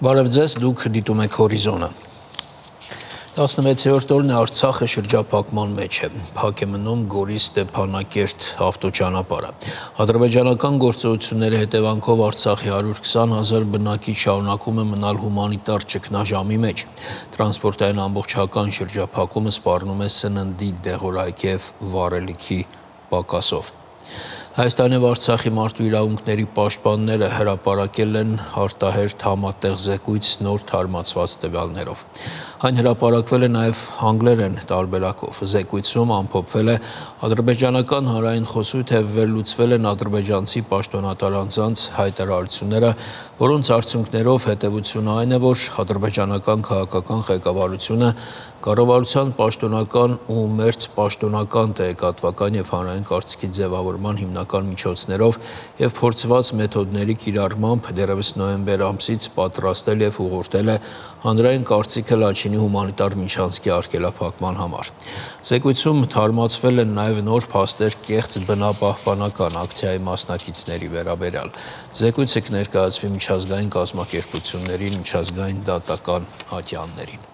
Բարև ձեզ, դուք դիտում եք հորիզոնը։ 16-րդ օրն է Արցախը շրջափակման մեջ է։ Փակ է մնում Գորի-Ստեփանակերտ ավտոճանապարհը։ Ադրբեջանական գործողությունների հետևանքով Արցախի 120,000 բնակիչ շարունակում է մնալ հումանիտար ճգնաժամի մեջ։ Տրանսպորտային ամբողջական շրջափակումը սպառնում է սննդի, դեղորայքի և վառելիքի պակասով։ Հայաստանի և Արցախի մարդու իրավունքների պաշտպանները հրապարակել են արտահերթ համատեղ զեկույց նոր թարմացված տվյալներով։ Այն հրապարակվել է նաև անգլերեն տարբերակով։ Զեկույցում ամփոփվել է ադրբեջանական հանրային խոսույթը և վերլուծվել են ադրբեջանցի պաշտոնատար անձանց հայտարարությունները, որոնց արդյունքներով հետևությունը այն է, որ ադրբեջանական քաղաքական ղեկավարությունը կառավարության պաշտոնական ու մերձ պաշտոնական տեղեկատվական և հանրային կարծիքի ձևավորման հիմնական միջոցներով և փորձված մեթոդների կիրառմամբ դեռևս նոյեմբեր ամսից պատրաստել և ուղղորդել է հանրային կարծիքը Լաչինի հումանիտար միջանցքի արգելափակման համար։ Զեկույցում թարմացվել են նաև նոր փաստեր կեղծ բնապահպանական ակցիայի մասնակիցների վերաբերյալ։ Զեկույցը կներկայացվի միջազգային կազմակերպություններին, միջազգային դատական ատյաններին։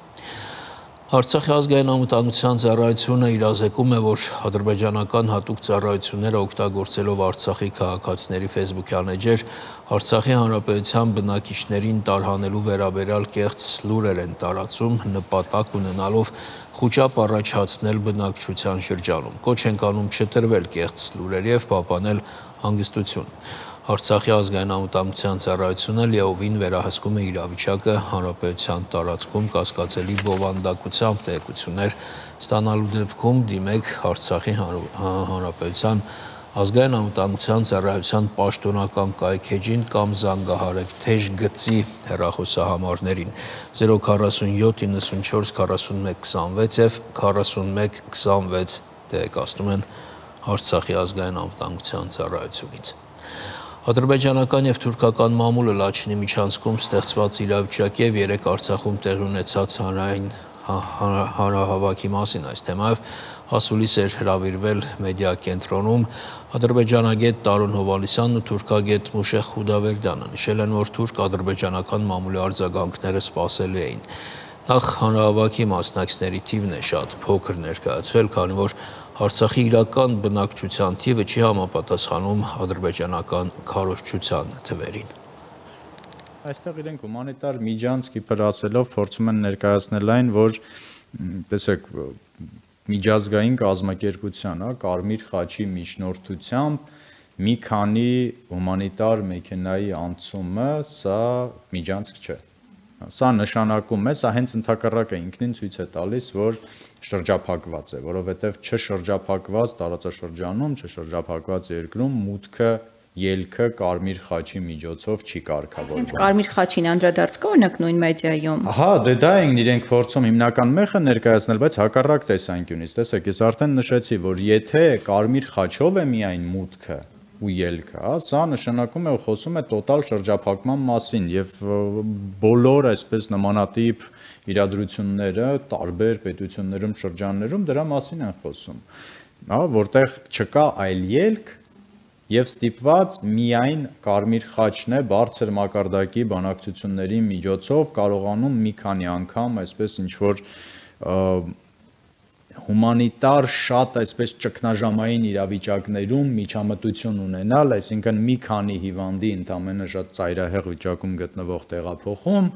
Արցախի ազգային անվտանգության ծառայությունը իրազեկում է, որ ադրբեջանական հատուկ ծառայությունները օգտագործելով Արցախի քաղաքացիների ֆեյսբուքյան էջեր Արցախի հանրապետության բնակիչներին տարհանելու վերաբերյալ կեղծ լուրեր են տարածում, նպատակ ունենալով խուճապ առաջացնել բնակչության շրջանում։ Կոչ ենք անում չտրվել կեղծ լուրերի և պահպանել հանգստություն։ Արցախի ազգային անվտանգության ծառայությունը լիովին վերահսկում է իրավիճակը հանրապետության տարածքում կասկածելի բովանդակությամբ տեղեկություններ ստանալու դեպքում դիմեք Արցախի հանրապետության ազգային անվտանգության ծառայության պաշտոնական կայքէջին կամ զանգահարեք թեժ գծի հեռախոսահամարներին 047 94 41 26 և 41 26 տեղեկացնում են Արցախի ազգային անվտանգության ծառայությունից։ Ադրբեջանական և թուրքական մամուլը Լաչինի միջանցքում ստեղծված իրավիճակի և երեկ Արցախում տեղի ունեցած հանրային հանրահավաքի մասին այս թեմայով ասուլիս էր հրավիրվել մեդիա կենտրոնում ադրբեջանագետ Տարոն Հովհաննիսյանն ու թուրքագետ Մուշեղ Խուդավերդյանը։ Նշել են, որ թուրք-ադրբեջանական մամուլի արձագանքները սպասելի էին։ Նախ հանրահավաքի մասնակիցների թիվն է շատ փոքր ներկայացվել, քանի որ Արցախի իրական բնակչության թիվը չի համապատասխանում ադրբեջանական քարոզչության թվերին։ Այստեղ իրենք հումանիտար միջանցք իբր ասելով փորձում են ներկայացնել այն, որ տեսեք միջազգային կազմակերպության, Կարմիր խաչի միջնորդությամբ մի քանի հումանիտար մեքենայի անցումը սա միջանցք չէ։ Սա նշանակում է, սա հենց ընդհակառակը ինքնին ցույց է տալիս, որ շրջափակված է, որովհետև չշրջափակված տարածաշրջանում, չշրջափակված երկրում մուտքը ելքը Կարմիր խաչի միջոցով չի կարգավորվում։ Հենց Կարմիր խաչին անդրադարձ կա օրինակ նույն մեդիայում։ Հա, դե դա են իրենք փորձում հիմնական մեխը ներկայացնել, բայց հակառակ տեսանկյունից։ Տեսեք, ես արդեն նշեցի, որ եթե Կարմիր խաչով է միայն մուտքը ու ելքը, սա նշանակում է ու խոսում է տոտալ շրջափակման մասին եւ բոլոր այսպես նմանատիպ իրադրությունները տարբեր պետություններում, շրջաններում դրա մասին են խոսում, հա, որտեղ չկա այլ ելք եւ ստիպված միայն Կարմիր խաչն է բարձր մակարդակի բանակցությունների միջոցով կարողանում մի քանի անգամ այսպես ինչ որ հումանիտար շատ այսպես ճգնաժամային իրավիճակներում միջամտություն ունենալ, այսինքն մի քանի հիվանդի ընդամենը շատ ծայրահեղ վիճակում գտնվող տեղափոխում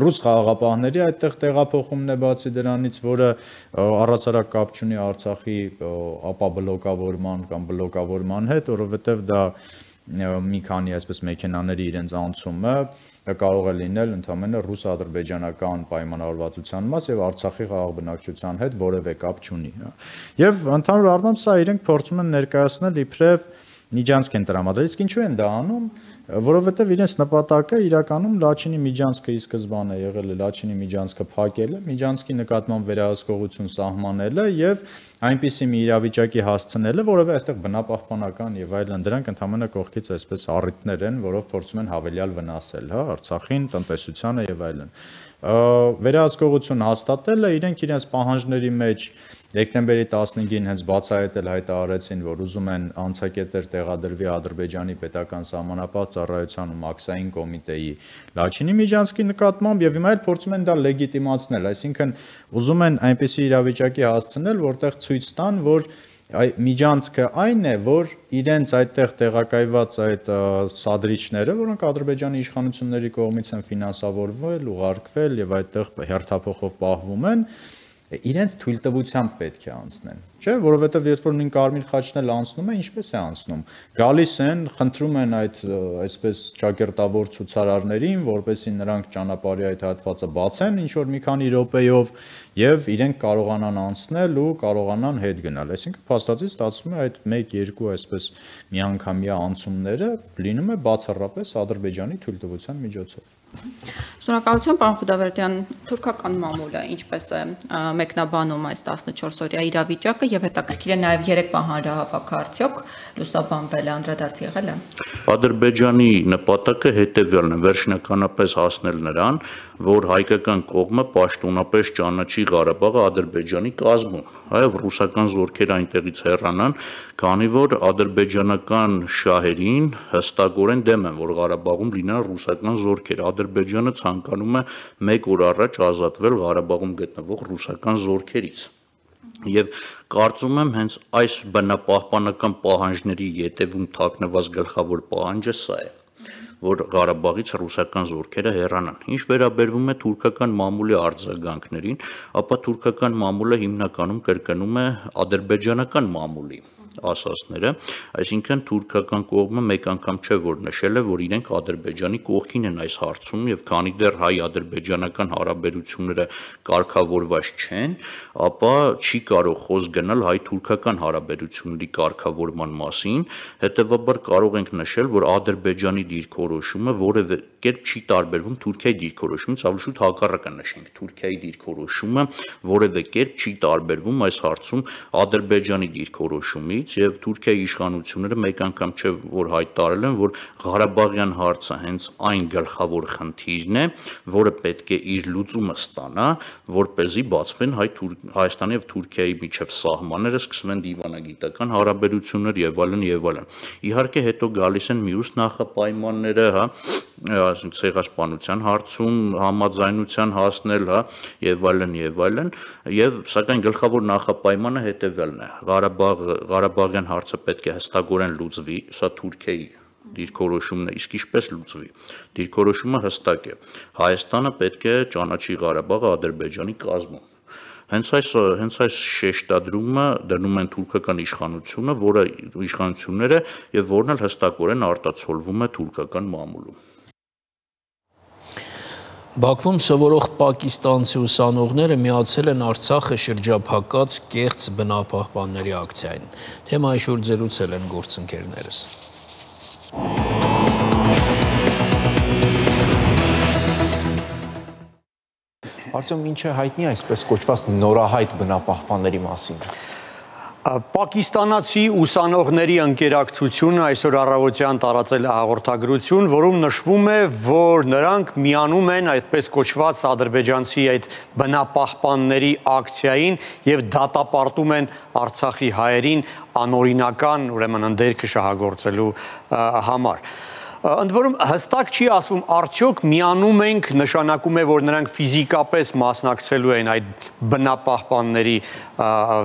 ռուս խաղաղապահների այդտեղ տեղափոխումն է բացի դրանից, որը առհասարակ կապ չունի Արցախի ապաբլոկավորման կամ բլոկավորման հետ, որովհետև դա մի քանի այսպես մեքենաների իրենց անցումը կարող է լինել ընդամենը ռուս-ադրբեջանական պայմանավորվածության մաս եւ Արցախի խաղաղ բնակչության հետ որևէ կապ չունի։ Եվ ընդհանուր առմամբ սա իրենք փորձում են ներկայացնել իբրև միջանցք են տրամադրել, իսկ ինչու են դա անում, որովհետև իրենց նպատակը իրականում Լաչինի միջանցքը ի սկզբանե եղել է Լաչինի միջանցքը փակելը, միջանցքի նկատմամբ վերահսկողություն սահմանելը եւ այնպիսի մի իրավիճակի հասցնելը, որովհետև այստեղ բնապահպանական եւ այլն դրանք ընդհանրապես կողքից այսպես առիթներ են, որով փորձում են հավելյալ վնասել, հա, Արցախին, տնտեսությանը եւ այլն։ վերահսկողություն հաստատել է, իրենք իրենց պահանջների մեջ դեկտեմբերի 15-ին հենց բացահայտել հայտարարեցին, որ ուզում են անցակետեր տեղադրվի Ադրբեջանի պետական սահմանապահ ծառայության ու մաքսային կոմիտեի Լաչինի միջանցքի նկատմամբ եւ հիմա էլ փորձում են դա լեգիտիմացնել, այսինքն ուզում են այնպիսի իրավիճակի հասցնել, որտեղ ցույց տան, որ միջանցքը այն է, որ իրենց այդտեղ տեղակայված այդ սադրիչները, որոնք Ադրբեջանի իշխանությունների կողմից են ֆինանսավորվել, ուղարկվել եւ այդտեղ հերթափոխով պահվում են, իրենց թույլտվությամբ պետք է անցնեն, չէ, որովհետև երբ որ նույն կարմիր խաչն էլ անցնում է, ինչպես է անցնում։ Գալիս են, խնդրում են այդ այսպես ճակերտավոր ցուցարարներին, որպեսզի նրանք ճանապարհի այդ հատվածը բացեն ինչ որ մի քանի րոպեով եւ իրենք կարողանան անցնել ու կարողանան հետ գնալ։ Այսինքն փաստացի ստացվում է այդ 1-2 այսպես միանգամյա անցումները լինում է բացառապես Ադրբեջանի թույլտվության միջոցով։ Շնորհակալություն, պարոն Խուդավերդյան, թուրքական մամուլը ինչպես է մեկնաբանում այս 14-օրյա իրավիճակը եւ հետաքրքիր է նաեւ երեկվա հանրահավաքը արդյոք լուսաբանվել է, անդրադարձ եղել է։ Ադրբեջանի նպատակը հետեւյալն է՝ վերջնականապես հասնել նրան, որ հայկական կողմը պաշտոնապես ճանաչի Ղարաբաղը Ադրբեջանի կազմում, այլ ռուսական զորքերը այնտեղից հեռանան, քանի որ ադրբեջանական շահերին հստակորեն դեմ են, որ Ղարաբաղում լինեն ռուսական զորքեր։ Ադրբեջանը ցանկանում է 1 օր առաջ ազատվել Ղարաբաղում գտնվող ռուսական զորքերից։ Եվ կարծում եմ հենց այս բնապահպանական պահանջների ետևում թաքնված գլխավոր պահանջը սա է, որ Ղարաբաղից ռուսական զորքերը հեռանան։ Ինչ վերաբերվում է թուրքական մամուլի արձագանքներին, ապա թուրքական մամուլը հիմնականում կրկնում է ադրբեջանական մամուլի ասածները, այսինքն թուրքական կողմը մեկ անգամ չէ որ նշել է, որ իրենք Ադրբեջանի կողքին են այս հարցում եւ քանի դեռ հայ-ադրբեջանական հարաբերությունները կարգավորված չեն, ապա չի կարող խոսք գնալ հայ-թուրքական հարաբերությունների կարգավորման մասին, հետեւաբար կարող ենք նշել, որ Ադրբեջանի դիրքորոշումը որևէ կերպ չի տարբերվում Թուրքիայի դիրքորոշումից, ավելի շուտ հակառակը նշենք, Թուրքիայի դիրքորոշումը որևէ կերպ չի տարբերվում այս հարցում Ադրբեջանի դիրքորոշումից եւ Թուրքիայի իշխանությունները մեկ անգամ չէ որ հայտարարել են, որ Ղարաբաղյան հարցը հենց այն գլխավոր խնդիրն է, որը պետք է իր լուծումը ստանա, որպեսզի բացվեն Հայաստանի եւ Թուրքիայի միջև սահմանները, սկսվեն դիվանագիտական հարաբերություններ եւ այլն եւ այլն։ Իհարկե հետո գալիս են մյուս նախապայմանները, ցեղասպանության հարցում համաձայնության հասնել, եւ այլն եւ սակայն գլխավոր նախապայմանը հետեւյալն է. Ղարաբաղյան հարցը պետք է հստակորեն լուծվի, սա Թուրքիայի դիրքորոշումն է, իսկ ինչպես լուծվի։ Դիրքորոշումը հստակ է։ Հայաստանը պետք է ճանաչի Ղարաբաղը Ադրբեջանի կազմում։ Հենց այս շեշտադրումը դնում են թուրքական իշխանությունները եւ որն էլ հստակորեն արտացոլվում է թուրքական մամուլում։ Բաքվում սովորող պակիստանցի ուսանողները միացել են Արցախը շրջափակած կեղծ բնապահպանների ակցիային։ Թեմայի շուրջ զրուցել են գործընկերներս։ Արդյոք ինչ է հայտնի այսպես կոչված նորահայտ բնապահպանների մասին։ Պակիստանացի ուսանողների ընկերակցությունը այսօր առավոտյան տարածել է հաղորդագրություն, որում նշվում է, որ նրանք միանում են այդպես կոչված ադրբեջանցի այդ բնապահպանների ակցիային եւ դատապարտում են Արցախի հայերին անօրինական, ուրեմն ընդերքը շահագործելու համար։ Ընդ որում հստակ չի ասվում արդյոք միանում ենք նշանակում է որ նրանք ֆիզիկապես մասնակցելու են այդ բնապահպանների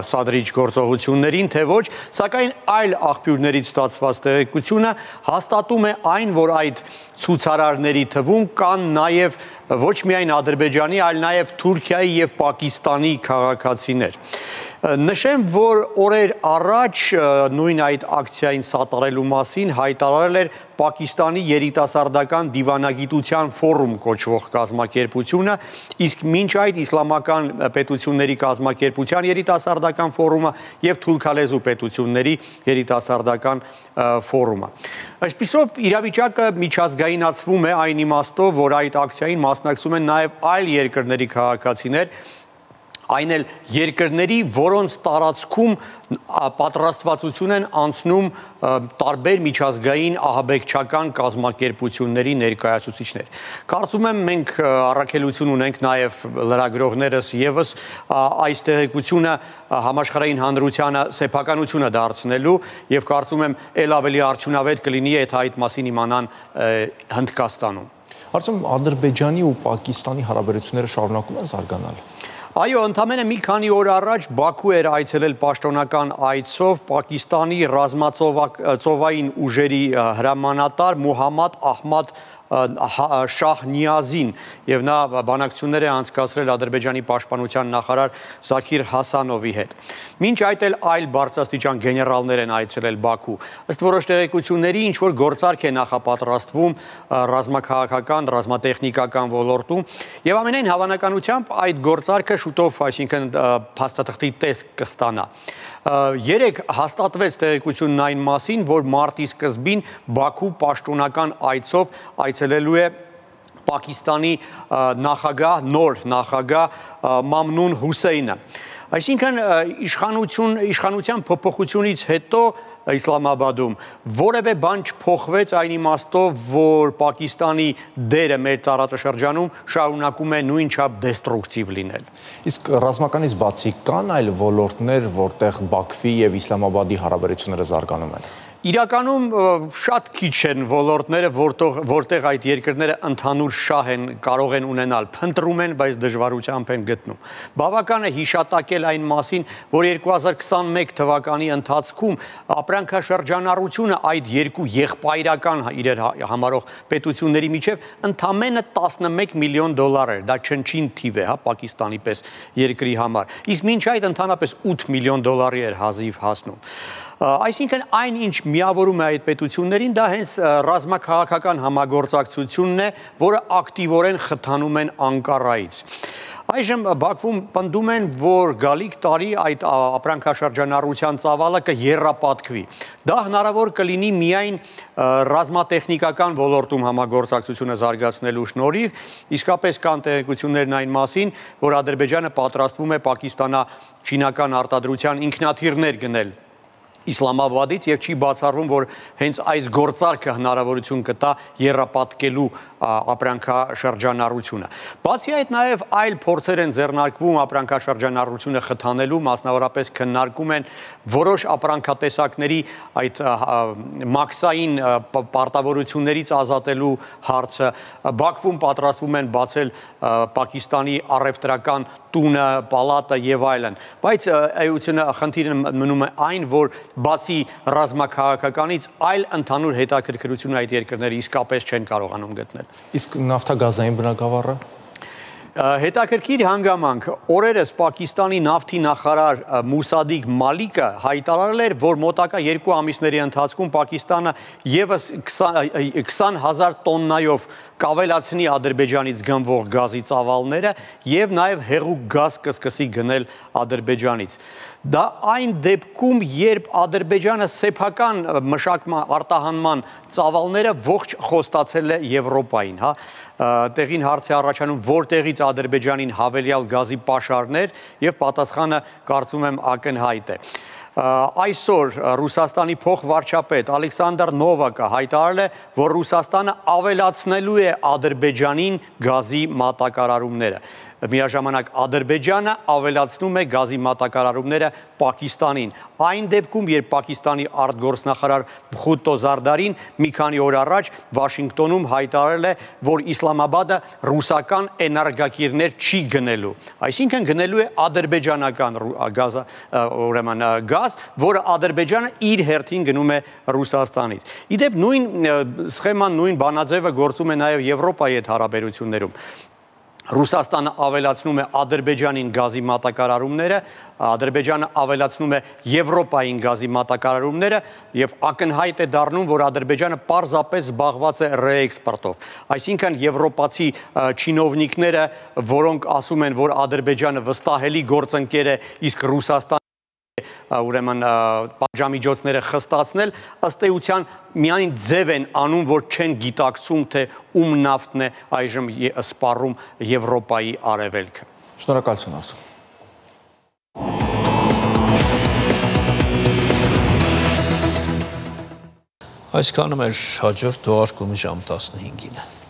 սադրիչ գործողություններին թե ոչ, սակայն այլ աղբյուրներից ստացված տեղեկությունը հաստատում է այն, որ այդ ցուցարարների թվում կան նաև ոչ միայն Ադրբեջանի, այլ նաև Թուրքիայի եւ Պակիստանի քաղաքացիներ։ Նշեմ, որ օրեր առաջ նույն այդ ակցիային սատարելու մասին հայտարարել էր Պակիստանի երիտասարդական դիվանագիտության ֆորում կոչվող կազմակերպությունը, իսկ մինչ այդ իսլամական պետությունների կազմակերպության երիտասարդական ֆորումը եւ թուրքալեզու պետությունների երիտասարդական ֆորումը։ Այսպիսով իրավիճակը միջազգայնացվում է այն իմաստով, որ այդ ակցիային մասնակցում են նաեւ այլ երկրների քաղաքացիներ, այն էլ երկրների, որոնց տարածքում պատրաստվածություն են անցնում տարբեր միջազգային ահաբեկչական կազմակերպությունների ներկայացուցիչներ։ Կարծում եմ մենք առաքելություն ունենք նաև լրագրողներս եւս այս տեղեկությունը համաշխարհային հանրությանը սեփականությունը դարձնելու եւ կարծում եմ ել ավելի արդյունավետ կլինի եթե այդ մասին իմանան Հնդկաստանում։ Արդյոք Ադրբեջանի ու Պակիստանի հարաբերությունները շարունակում են զարգանալ։ Այո, ընդամենը մի քանի օր առաջ Բաքու էր այցելել պաշտոնական այցով Պակիստանի ռազմածովային ուժերի հրամանատար Մուհամմադ Ահմադ Շահնիազին եւ նա բանակցություններ է անցկացրել Ադրբեջանի պաշտպանության նախարար Զաքիր Հասանովի հետ։ Մինչ այդ էլ այլ բարձրաստիճան գեներալներ են այցելել Բաքու։ Ըստ որոշ տեղեկությունների ինչ որ գործարք է նախապատրաստվում ռազմաքաղաքական, ռազմատեխնիկական ոլորտում եւ ամենայն հավանականությամբ այդ գործարքը շուտով, այսինքն փաստաթղթի տեսք կստանա։ Երեք հաստատվեց տեղեկությունն այն մասին, որ մարտի սկզբին Բաքու պաշտոնական այցով այցելելու է Պակիստանի նախագահ, նոր նախագահ Մամնուն Հուսեյնը։ Այսինքն իշխանության փոփոխությունից հետո Իսլամաբադում որևէ բան չփոխվեց այն իմաստով, որ Պակիստանի դերը մեր տարածաշրջանում շարունակում է նույնչափ դեստրուկտիվ լինել։ Իսկ ռազմականից բացի կան այլ ոլորտներ, որտեղ Բաքվի եւ Իսլամաբադի հարաբերությունները զարգանում են։ Իրականում շատ քիչ են ոլորտները, որտեղ այդ երկրները ընդհանուր շահ են կարող են ունենալ, փնտրում են, բայց դժվարությամբ են գտնում։ Բավական է հիշատակել այն մասին, որ 2021 թվականի ընթացքում ապրանքաշրջանառությունը այդ երկու եղբայրական իրեր համարող պետությունների միջև ընդամենը 11 միլիոն դոլար էր, դա չնչին թիվ է, հա, Պակիստանի պես երկրի համար։ Իսկ մինչ այդ ընդհանրապես 8 միլիոն դոլարի էր հազիվ հասնում։ Այսինքն այն ինչ միավորում է այդ պետություններին, դա հենց ռազմաքաղաքական համագործակցությունն է, որը ակտիվորեն խթանում են Անկարայից։ Այժմ Բաքվում պնդում են, որ գալիք տարի այդ ապրանքաշրջանառության ծավալը կեռապատկվի։ Դա հնարավոր կլինի միայն ռազմատեխնիկական ոլորտում համագործակցությունը զարգացնելու շնորհիվ, իսկապես կան տեղեկություններն այն մասին, որ Ադրբեջանը պատրաստվում է պակիստանա-չինական արտադրության ինքնաթիռներ գնել Իսլամաբադից եւ չի բացառվում, որ հենց այս գործարքը հնարավորություն կտա եռապատկելու ապրանքաշրջանառությունը։ Բացի այդ նաև այլ փորձեր են ձեռնարկվում ապրանքաշրջանառությունը խթանելու, մասնավորապես քննարկում են որոշ ապրանքատեսակների այդ մաքսային պարտավորություններից ազատելու հարցը։ Բաքվում պատրաստվում են բացել Պակիստանի առևտրական տունը, պալատը եւ այլն։ Բայց էությունը խնդիրը մնում է այն, որ բացի ռազմաքաղաքականից այլ ընդհանուր հետաքրքրություն այդ երկրները իսկապես չեն կարողանում գտնել։ Իսկ նավթագազային բնագավառը Հետաքրքիր հանգամանք օրերս Պակիստանի նավթի նախարար Մուսադիկ Մալիկը հայտարարել էր, որ մոտակա 2 ամիսների ընթացքում Պակիստանը եւս 20,000 տոննայով կավելացնի Ադրբեջանից գնվող գազի ծավալները եւ նաեւ հեղուկ գազ կսկսի գնել Ադրբեջանից։ Դա այն դեպքում, երբ Ադրբեջանը սեփական մշակման արտահանման ծավալները ողջ խոստացել է Եվրոպային, հա, տեղին հարց է առաջանում, որտեղից Ադրբեջանին հավելյալ գազի պաշարներ եւ պատասխանը կարծում եմ ակնհայտ է։ Այսօր Ռուսաստանի փոխվարչապետ Ալեքսանդր Նովակը հայտարարել է, որ Ռուսաստանը ավելացնելու է Ադրբեջանին գազի մատակարարումները։ Միաժամանակ Ադրբեջանը ավելացնում է գազի մատակարարումները Պակիստանին։ Այն դեպքում, երբ Պակիստանի արտգործնախարար Բխուտո Զարդարին մի քանի օր առաջ Վաշինգտոնում հայտարարել է, որ Իսլամաբադը ռուսական էներգակիրներ չի գնելու։ Այսինքն գնելու է ադրբեջանական գազ, որը Ադրբեջանը իր հերթին գնում է Ռուսաստանից։ Իդեպ նույն սխեման, նույն բանաձևը գործում է նաև Եվրոպայի հետ հարաբերություններում։ Ռուսաստանը ավելացնում է Ադրբեջանին գազի մատակարարումները, Ադրբեջանը ավելացնում է Եվրոպային գազի մատակարարումները եւ ակնհայտ է դառնում, որ Ադրբեջանը պարզապես զբաղված է ռեէքսպորտով։ Այսինքն եվրոպացի չինովնիկները, որոնք ասում են, որ Ադրբեջանը վստահելի գործընկեր է, իսկ Ռուսաստանը ուրեմն պատժամիջոցները խստացնել, ըստ էության միայն ձև են անում, որ չեն գիտակցում, թե ում նավթն է այժմ սպառում Եվրոպայի արևելքը։ Շնորհակալություն Արծու։ Այսքանը մեր հաջորդ թողարկումի ժամ 15-ին է։